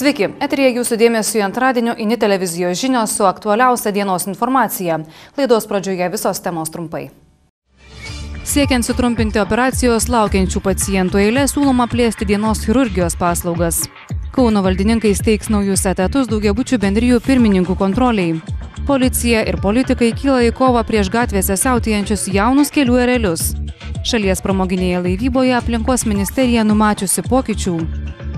Sveiki, eteryje jūsų dėmesio antradienio INI televizijos žinios su aktualiausia dienos informacija. Laidos pradžioje visos temos trumpai. Siekiant sutrumpinti operacijos laukiančių pacientų eilę, siūloma plėsti dienos chirurgijos paslaugas. Kauno valdininkai steigs naujus etatus daugiabučių bendrijų pirmininkų kontroliai. Policija ir politikai kyla į kovą prieš gatvėse siautėjančius jaunus kelių erelius. Šalies pramoginėje laivyboje aplinkos ministerija numačiusi pokyčių.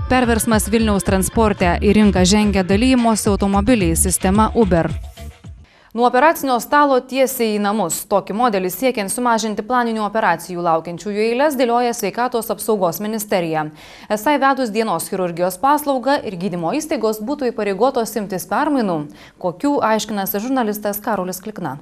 Perversmas Vilniaus transporte į rinką žengia dalymosi automobiliais sistema Uber. Nuo operacinio stalo tiesiai į namus. Tokį modelį siekiant sumažinti planinių operacijų laukiančiųjų eiles dėlioja Sveikatos apsaugos ministerija. Esą įvedus dienos chirurgijos paslaugą ir gydymo įstaigos būtų įpareigotos imtis permainų. Kokių aiškinasi žurnalistas Karolis Klikna.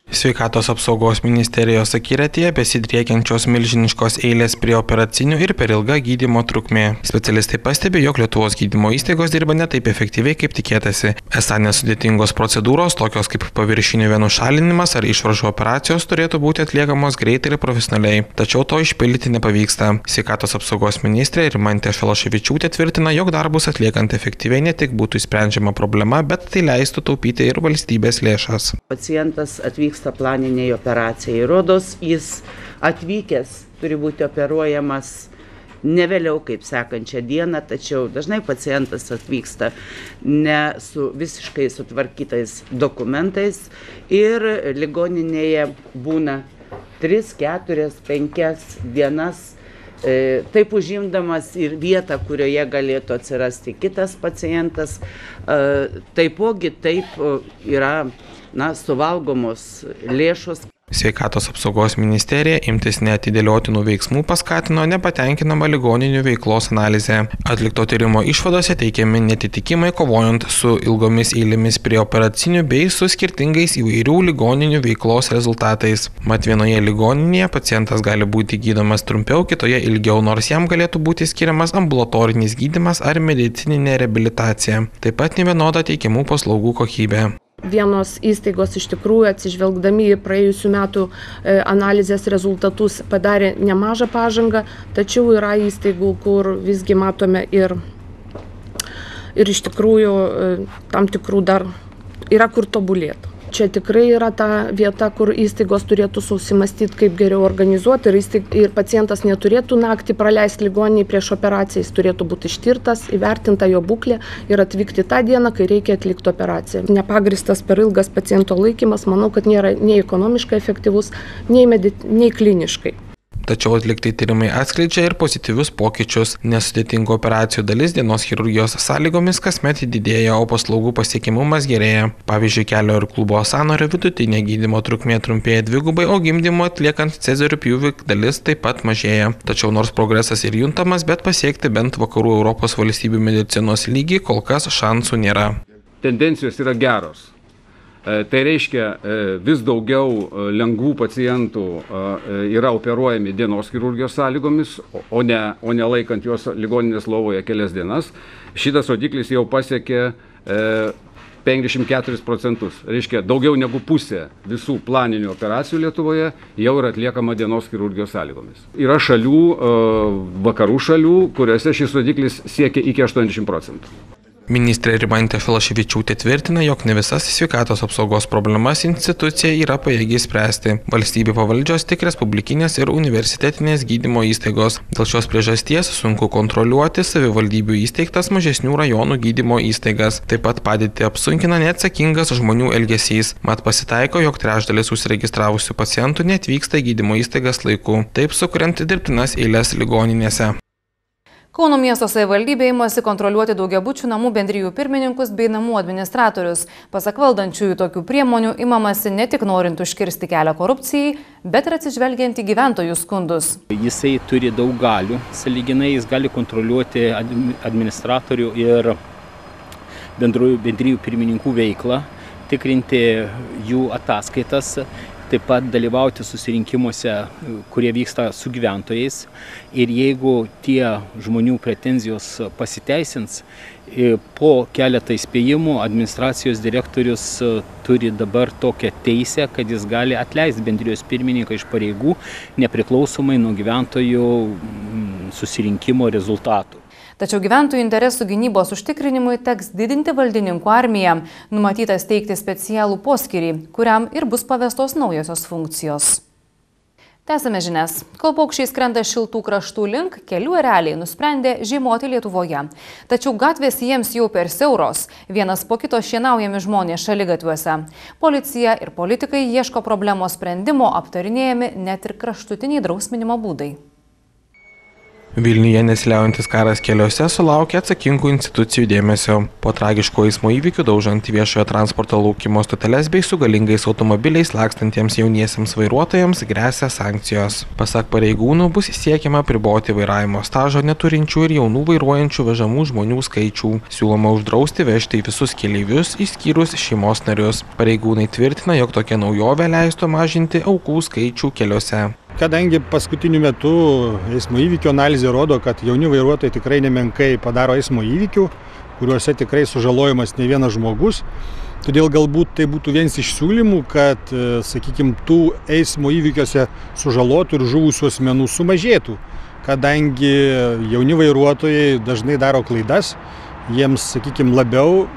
Sveikatos apsaugos ministerijos akiratyje besidriekiančios milžiniškos eilės prie operacinių ir per ilga gydymo trukmė. Specialistai pastebi, jog Lietuvos gydymo įstaigos dirba ne taip efektyviai, kaip tikėtasi. Esą nesudėtingos procedūros, tokios kaip paviršinių venų šalinimas ar išvaržų operacijos, turėtų būti atliekamos greitai ir profesionaliai. Tačiau to išpildyti nepavyksta. Sveikatos apsaugos ministrė Rimantė Šalaševičiūtė tvirtina, jog darbus atliekant efektyviai ne tik būtų išsprendžiama problema, bet tai leistų taupyti ir valstybės lėšas. Pacientas atvyksta planiniai operacijai. Rodos, jis atvykęs turi būti operuojamas ne vėliau kaip sekančią dieną, tačiau dažnai pacientas atvyksta ne su visiškai sutvarkytais dokumentais ir ligoninėje būna 3, 4, 5 dienas, taip užimdamas ir vietą, kurioje galėtų atsirasti kitas pacientas. Taipogi taip yra suvalgomos lėšos. Sveikatos apsaugos ministerija imtis neatidėliotinų veiksmų paskatino nepatenkinamą ligoninių veiklos analizę. Atlikto tyrimo išvadose teikiami netitikimai kovojant su ilgomis eilėmis prie operacinių bei su skirtingais įvairių ligoninių veiklos rezultatais. Mat vienoje ligoninėje pacientas gali būti gydomas trumpiau, kitoje ilgiau, nors jam galėtų būti skiriamas ambulatorinis gydymas ar medicininė reabilitacija. Taip pat nevienoda teikiamų paslaugų kokybė. Vienos įstaigos iš tikrųjų atsižvelgdami į praėjusių metų analizės rezultatus padarė nemažą pažangą, tačiau yra įstaigų, kur visgi matome ir iš tikrųjų tam tikrų dar yra kur tobulėti. Čia tikrai yra ta vieta, kur įstaigos turėtų susimastyti, kaip geriau organizuoti ir pacientas neturėtų naktį praleisti ligoninėje prieš operaciją, jis turėtų būti ištirtas, įvertinta jo būklė ir atvykti tą dieną, kai reikia atlikti operaciją. Nepagristas per ilgas paciento laikymas, manau, kad nėra nei ekonomiškai efektyvus, nei kliniškai. Tačiau atlikti tyrimai atskleidžia ir pozityvius pokyčius. Nesudėtingų operacijų dalis dienos chirurgijos sąlygomis kasmet didėja, o paslaugų pasiekiamumas gerėja. Pavyzdžiui, kelio ir klubo sąnario vidutinė gydymo trukmė trumpėja 2, o gimdymo atliekant cezarių pjūvį dalis taip pat mažėja. Tačiau nors progresas ir juntamas, bet pasiekti bent vakarų Europos valstybių medicinos lygį kol kas šansų nėra. Tendencijos yra geros. Tai reiškia, vis daugiau lengvų pacientų yra operuojami dienos chirurgijos sąlygomis, o ne laikant juos ligoninės lovoje kelias dienas. Šitas rodiklis jau pasiekė 54%. Reiškia, daugiau negu pusė visų planinių operacijų Lietuvoje jau yra atliekama dienos chirurgijos sąlygomis. Yra šalių, vakarų šalių, kuriuose šis rodiklis siekia iki 80%. Ministrė Rimantė Šalaševičiūtė tvirtina, jog ne visas sveikatos apsaugos problemas institucija yra pajėgi spręsti. Valstybė pavaldžios tik respublikinės ir universitetinės gydymo įstaigos. Dėl šios priežasties sunku kontroliuoti savivaldybių įsteigtas mažesnių rajonų gydymo įstaigas. Taip pat padėtį apsunkina neatsakingas žmonių elgesys. Mat pasitaiko, jog trečdalis užsiregistravusių pacientų neatvyksta į gydymo įstaigas laiku, taip sukuriant dirbtinas eiles ligoninėse. Kauno miesto savivaldybė imasi kontroliuoti daugiabučių namų bendrijų pirmininkus bei namų administratorius. Pasak valdančiųjų, tokių priemonių imamasi ne tik norint užkirsti kelią korupcijai, bet ir atsižvelgiant į gyventojų skundus. Jisai turi daug galių, sąlyginai jis gali kontroliuoti administratorių ir bendrijų pirmininkų veiklą, tikrinti jų ataskaitas, taip pat dalyvauti susirinkimuose, kurie vyksta su gyventojais. Ir jeigu tie žmonių pretenzijos pasiteisins, po keletą įspėjimų administracijos direktorius turi dabar tokią teisę, kad jis gali atleisti bendrijos pirmininką iš pareigų, nepriklausomai nuo gyventojų susirinkimo rezultatų. Tačiau gyventojų interesų gynybos užtikrinimui teks didinti valdininkų armiją, numatyta steigti specialų poskyrį, kuriam ir bus pavestos naujosios funkcijos. Tęsame žinias. Kol paukščiai skrenda šiltų kraštų link, kelių ereliai nusprendė žiemoti Lietuvoje. Tačiau gatvės jiems jau per siauros. Vienas po kito šienaujami žmonės šaligatviuose. Policija ir politikai ieško problemos sprendimo, aptarinėjami net ir kraštutiniai drausminimo būdai. Vilniuje nesiliaujantis karas keliuose sulaukė atsakingų institucijų dėmesio. Po tragiško eismo įvykių daužant viešojo transporto laukimo stoteles bei su galingais automobiliais lakstantiems jauniesiems vairuotojams gresia sankcijos. Pasak pareigūnų, bus siekiama apriboti vairavimo stažo neturinčių ir jaunų vairuojančių vežamų žmonių skaičių. Siūloma uždrausti vežti visus keleivius, išskyrus šeimos narius. Pareigūnai tvirtina, jog tokia naujovė leistų mažinti aukų skaičių keliuose. Kadangi paskutiniu metu eismo įvykių analizė rodo, kad jauni vairuotojai tikrai nemenkai padaro eismo įvykių, kuriuose tikrai sužalojamas ne vienas žmogus, todėl galbūt tai būtų vienas iš siūlymų, kad, sakykime, tų eismo įvykiuose sužalotų ir žuvusių asmenų sumažėtų, kadangi jauni vairuotojai dažnai daro klaidas, jiems, sakykime, labiau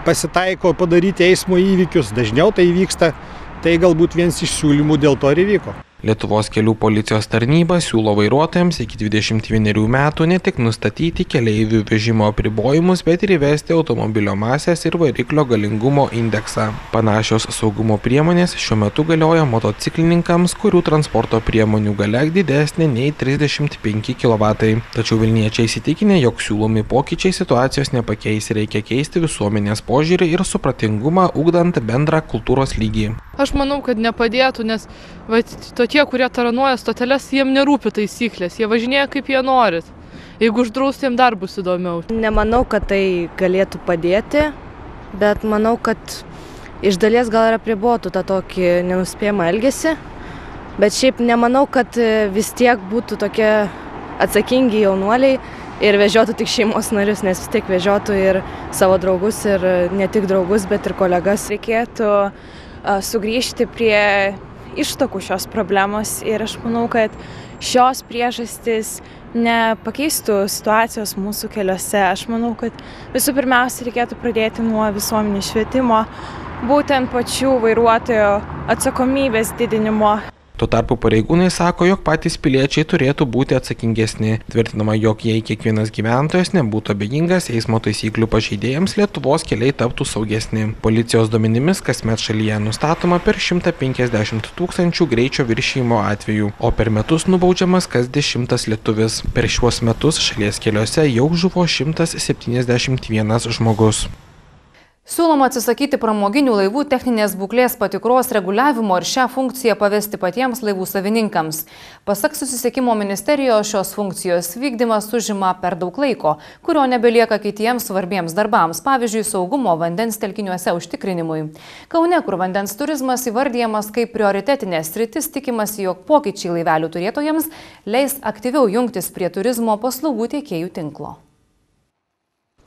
pasitaiko padaryti eismo įvykius, dažniau tai vyksta. Tai galbūt vienas iš siūlymų dėl to ir įvyko. Lietuvos kelių policijos tarnyba siūlo vairuotojams iki 21 metų ne tik nustatyti keleivių vežimo apribojimus, bet ir įvesti automobilio masės ir variklio galingumo indeksą. Panašios saugumo priemonės šiuo metu galioja motociklininkams, kurių transporto priemonių galia didesnė nei 35 kW. Tačiau vilniečiai įsitikinę, jog siūlomi pokyčiai situacijos nepakeis, reikia keisti visuomenės požiūrį ir supratingumą, ugdant bendrą kultūros lygį. Aš manau, kad nepadėtų, nes tokie, kurie taranuoja stoteles, jiem nerūpi taisyklės, jie važinėja kaip jie norit. Jeigu uždrausti, jiem dar bus įdomiau. Nemanau, kad tai galėtų padėti, bet manau, kad iš dalies gal ir apribotų tą tokį nenuspėjamą elgesį. Bet šiaip nemanau, kad vis tiek būtų tokie atsakingi jaunuoliai ir vežiotų tik šeimos narius, nes vis tiek vežiotų ir savo draugus, ir ne tik draugus, bet ir kolegas. Reikėtų sugrįžti prie ištakų šios problemos ir aš manau, kad šios priežastys nepakeistų situacijos mūsų keliuose. Aš manau, kad visų pirmiausia reikėtų pradėti nuo visuomenės švietimo, būtent pačių vairuotojų atsakomybės didinimo. Tuo tarpu pareigūnai sako, jog patys piliečiai turėtų būti atsakingesni. Tvirtinama, jog jei kiekvienas gyventojas nebūtų abejingas eismo taisyklių pažeidėjams, Lietuvos keliai taptų saugesni. Policijos duomenimis kasmet šalyje nustatoma per 150 000 greičio viršijimo atvejų, o per metus nubaudžiamas kas 10 lietuvis. Per šiuos metus šalies keliuose jau žuvo 171 žmogus. Siūloma atsisakyti pramoginių laivų techninės būklės patikros reguliavimo ir šią funkciją pavesti patiems laivų savininkams. Pasak Susisiekimo ministerijos, šios funkcijos vykdymas užima per daug laiko, kurio nebelieka kitiems svarbiems darbams, pavyzdžiui, saugumo vandens telkiniuose užtikrinimui. Kaune, kur vandens turizmas įvardyjamas kaip prioritetinė sritis, tikimasi, jog pokyčiai laivelių turėtojams leis aktyviau jungtis prie turizmo paslaugų tiekėjų tinklo.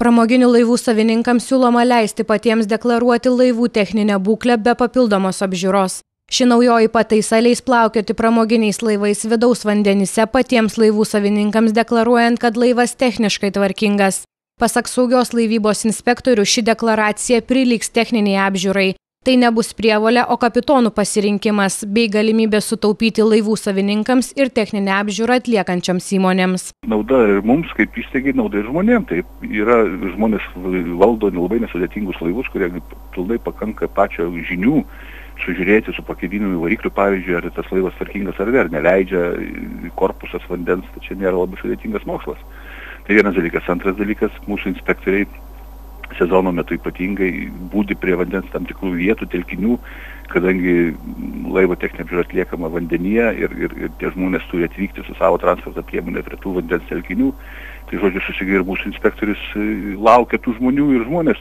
Pramoginių laivų savininkams siūloma leisti patiems deklaruoti laivų techninę būklę be papildomos apžiūros. Ši naujoji pataisa leis plaukioti pramoginiais laivais vidaus vandenyse patiems laivų savininkams deklaruojant, kad laivas techniškai tvarkingas. Pasak saugios laivybos inspektorių, ši deklaracija prilygs techniniai apžiūrai. Tai nebus prievolė, o kapitonų pasirinkimas bei galimybė sutaupyti laivų savininkams ir techninę apžiūrą atliekančiams įmonėms. Nauda ir mums, kaip įstaigai, nauda ir žmonėms. Taip, yra žmonės valdo labai nesudėtingus laivus, kurie pilnai pakanka pačio žinių sužiūrėti su pakėlinimu į variklių, pavyzdžiui, ar tas laivas tvarkingas ar neleidžia korpusas vandens, tai čia nėra labai sudėtingas mokslas. Tai vienas dalykas. Antras dalykas, mūsų inspektoriai sezono metu ypatingai būdi prie vandens tam tikrų vietų, telkinių, kadangi laivo techninė apžiūra atliekama vandenyje ir tie žmonės turi atvykti su savo transporto priemonė prie tų vandens telkinių. Tai žodžiu, susigai ir mūsų inspektorius laukia tų žmonių ir žmonės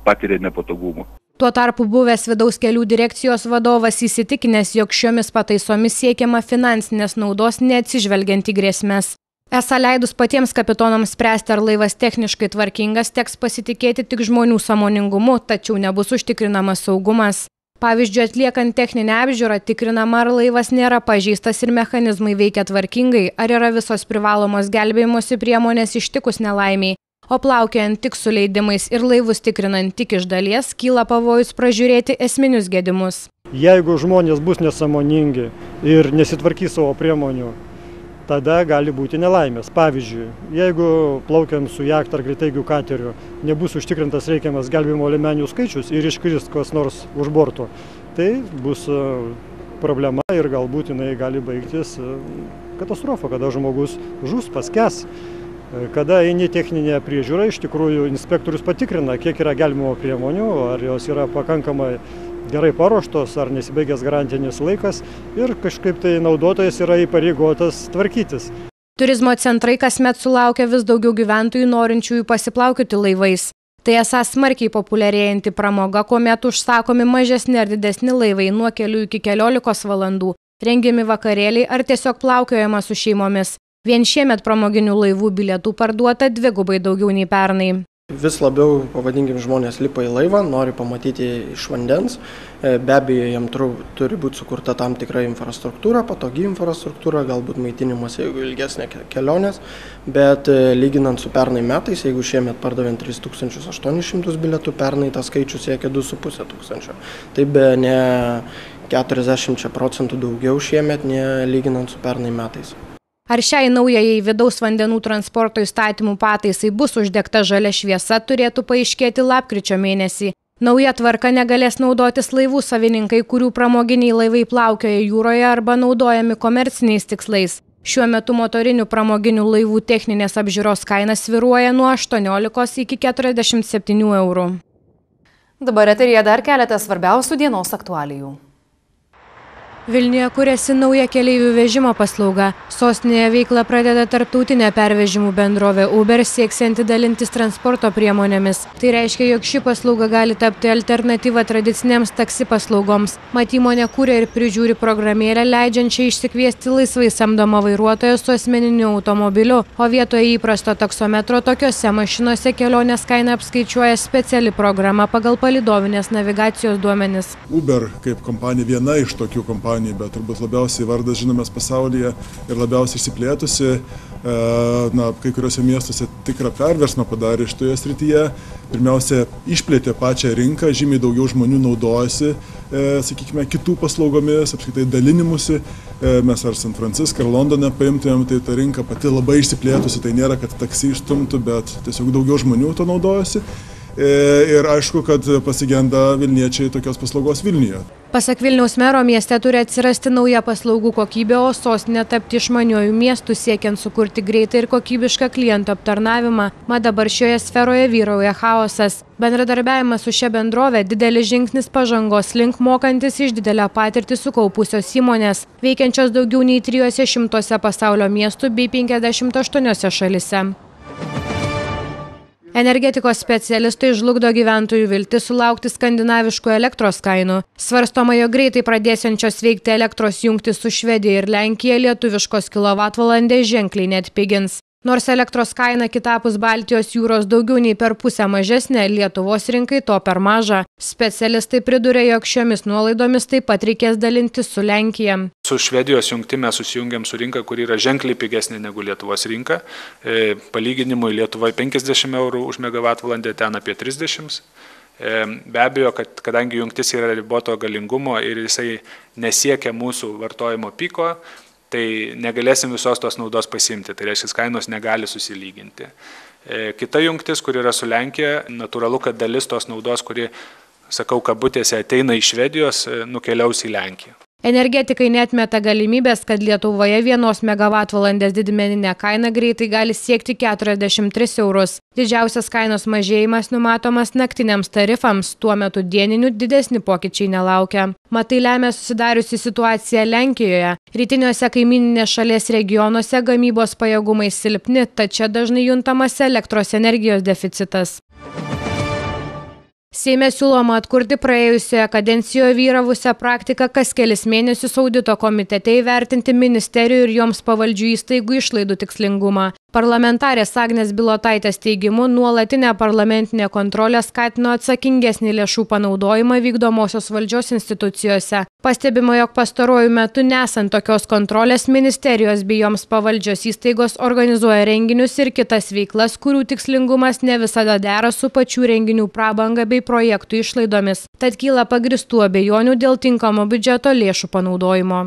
patiria nepatogumų. Tuo tarpu buvęs vidaus kelių direkcijos vadovas įsitikinęs, jog šiomis pataisomis siekiama finansinės naudos neatsižvelgiant į grėsmes. Esą leidus patiems kapitonams spręsti, ar laivas techniškai tvarkingas, teks pasitikėti tik žmonių sąmoningumu, tačiau nebus užtikrinamas saugumas. Pavyzdžiui, atliekant techninę apžiūrą tikrinama, ar laivas nėra pažeistas ir mechanizmai veikia tvarkingai, ar yra visos privalomos gelbėjimosi priemonės ištikus nelaimiai. O plaukiant tik su leidimais ir laivus tikrinant tik iš dalies, kyla pavojus pražiūrėti esminius gedimus. Jeigu žmonės bus nesąmoningi ir nesitvarkys savo priemonių, tada gali būti nelaimės. Pavyzdžiui, jeigu plaukiant su jachta ar greitaigių kateriu nebus užtikrintas reikiamas gelbėjimo liemenių skaičius ir iškris kas nors už borto, tai bus problema ir galbūt jinai gali baigtis katastrofa, kada žmogus žus, paskęs. Kada eini techninę priežiūrą, iš tikrųjų inspektorius patikrina, kiek yra gelbėjimo priemonių, ar jos yra pakankamai gerai paruoštos, ar nesibaigęs garantinis laikas ir kažkaip tai naudotojas yra įpareigotas tvarkytis. Turizmo centrai kasmet sulaukia vis daugiau gyventojų norinčiųjų pasiplaukioti laivais. Tai esąs smarkiai populiarėjanti pramoga, kuomet užsakomi mažesni ar didesni laivai nuo kelių iki 14 valandų, rengiami vakarėliai ar tiesiog plaukiojama su šeimomis. Vien šiemet pramoginių laivų bilietų parduota 2x daugiau nei pernai. Vis labiau, pavadinkim, žmonės lipa į laivą, nori pamatyti iš vandens. Be abejo, jam turi būti sukurta tam tikra infrastruktūra, patogi infrastruktūra, galbūt maitinimas, jeigu ilgesnė kelionės. Bet lyginant su pernai metais, jeigu šiemet pardavėm 3800 bilietų, pernai tas skaičius siekia 2500. Tai be ne 40% daugiau šiemet, ne lyginant su pernai metais. Ar šiai naujajai vidaus vandenų transporto įstatymų pataisai bus uždegta žalia šviesa, turėtų paaiškėti lapkričio mėnesį. Nauja tvarka negalės naudotis laivų savininkai, kurių pramoginiai laivai plaukioja jūroje arba naudojami komerciniais tikslais. Šiuo metu motorinių pramoginių laivų techninės apžiūros kaina svyruoja nuo 18 iki 47 eurų. Dabar eteryje dar keletas svarbiausių dienos aktualijų. Vilniuje kuriasi nauja keleivių vežimo paslauga. Sostinėje veiklą pradeda tarptautinė pervežimų bendrovė Uber, sieksianti dalintis transporto priemonėmis. Tai reiškia, jog ši paslauga gali tapti alternatyva tradicinėms taksi paslaugoms. Mat įmonė kuria ir prižiūri programėlę, leidžiančią išsikviesti laisvai samdomą vairuotoją su asmeniniu automobiliu, o vietoje įprasto taksometro tokiose mašinose kelionės kainą apskaičiuoja speciali programa pagal palydovinės navigacijos duomenis. Uber kaip kompanija viena iš tokių kompanijų, bet turbūt labiausiai vardas žinomas pasaulyje ir labiausiai išsiplėtusi, kai kuriuose miestuose tikrą perversmą padarė šitoje srityje. Pirmiausia, išplėtė pačią rinką, žymiai daugiau žmonių naudojasi, sakykime, kitų paslaugomis, apskritai dalinimusi. Mes ar San Franciską, ar Londone paimtumėm, tai ta rinka pati labai išsiplėtusi, tai nėra, kad taksi išstumtų, bet tiesiog daugiau žmonių to naudojasi. Ir aišku, kad pasigenda vilniečiai tokios paslaugos Vilniuje. Pasak Vilniaus mero, mieste turi atsirasti nauja paslaugų kokybė, o sostinė tapti išmaniuoju miestu, siekiant sukurti greitą ir kokybišką klientų aptarnavimą. Mat dabar šioje sferoje vyrauja chaosas. Bendradarbiavimas su šia bendrove didelis žingsnis pažangos link, mokantis iš didelę patirtį sukaupusios įmonės, veikiančios daugiau nei 300 pasaulio miestų bei 58 šalise. Energetikos specialistai žlugdo gyventojų viltis sulaukti skandinaviškų elektros kainų. Svarstoma, jog greitai pradėsiančios veikti elektros jungtis su Švedija ir Lenkija lietuviškos kilovatvalandės ženkliai neatpigins. Nors elektros kaina kitapus Baltijos jūros daugiau nei per pusę mažesnė, Lietuvos rinkai to per maža. Specialistai priduria, jog šiomis nuolaidomis taip pat reikės dalintis su Lenkija. Su Švedijos jungti mes susijungiam su rinka, kuri yra ženkliai pigesnė negu Lietuvos rinka. Palyginimui Lietuvoje 50 eurų už megavatvalandę, ten apie 30. Be abejo, kad kadangi jungtis yra riboto galingumo ir jisai nesiekia mūsų vartojimo piko, tai negalėsim visos tos naudos pasimti, tai reiškia, kainos negali susilyginti. Kita jungtis, kur yra su Lenkija, natūralu, kad dalis tos naudos, kuri, sakau, kabutėse ateina iš Švedijos, nukeliaus į Lenkiją. Energetikai neatmeta galimybės, kad Lietuvoje 1 megavatvalandės didmeninė kaina greitai gali siekti 43 eurus. Didžiausias kainos mažėjimas numatomas naktiniams tarifams, tuo metu dieninių didesni pokyčiai nelaukia. Mat tai lemia susidariusi situacija Lenkijoje. Rytiniuose kaimyninės šalies regionuose gamybos pajėgumai silpni, tačiau dažnai juntamas elektros energijos deficitas. Seime siūloma atkurti praėjusioje kadencijoje vyravusią praktiką kas kelis mėnesius audito komitete įvertinti ministerijų ir joms pavaldžių įstaigų išlaidų tikslingumą. Parlamentarės Agnės Bilotaitės teigimu, nuolatinė parlamentinė kontrolė skatino atsakingesnį lėšų panaudojimą vykdomosios valdžios institucijose. Pastebima, jog pastaruoju metu nesant tokios kontrolės, ministerijos bei joms pavaldžios įstaigos organizuoja renginius ir kitas veiklas, kurių tikslingumas ne visada dera su pačių renginių prabanga bei projektų išlaidomis. Tad kyla pagristų abejonių dėl tinkamo biudžeto lėšų panaudojimo.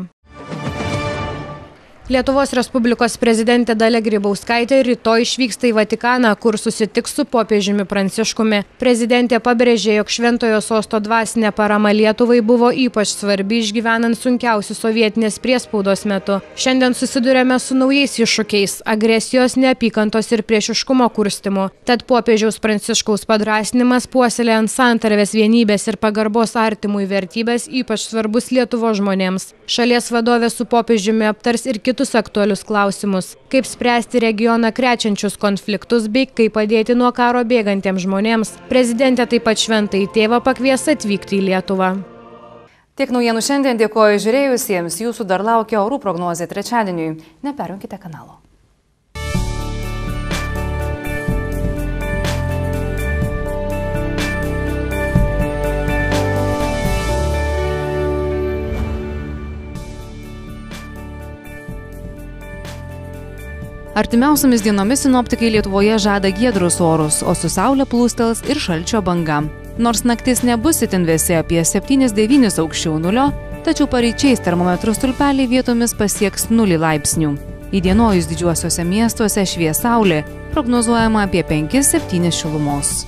Lietuvos Respublikos prezidentė Dalia Grybauskaitė rytoj išvyksta į Vatikaną, kur susitiks su popiežiumi Pranciškumi. Prezidentė pabrėžė, jog Šventojo sosto dvasinė parama Lietuvai buvo ypač svarbi išgyvenant sunkiausius sovietinės priespaudos metu. Šiandien susidurėme su naujais iššūkiais – agresijos, neapykantos ir priešiškumo kurstymu. Tad popiežiaus Pranciškaus padrąsinimas puoselėjant santarvės, vienybės ir pagarbos artimui vertybės ypač svarbus Lietuvos žmonėms. Šalies vadovė su popiežiumi aptars ir kitus aktualius klausimus, kaip spręsti regioną krečiančius konfliktus bei kaip padėti nuo karo bėgantiems žmonėms. Prezidentė taip pat Šventąjį tėvą pakvies atvykti į Lietuvą. Tiek naujienų šiandien, dėkoju žiūrėjusiems, jūsų dar laukia orų prognozė trečiadieniui. Neperjunkite kanalo. Artimiausiamis dienomis sinoptikai Lietuvoje žada giedrus orus, o su saulė plūstels ir šalčio banga. Nors naktis nebus itin vėsi apie 7-9 aukščiau nulio, tačiau paryčiais termometrų stulpeliai vietomis pasieks 0 laipsnių. Įdienojus didžiuosiuose miestuose švies saulė, prognozuojama apie 5-7 šilumos.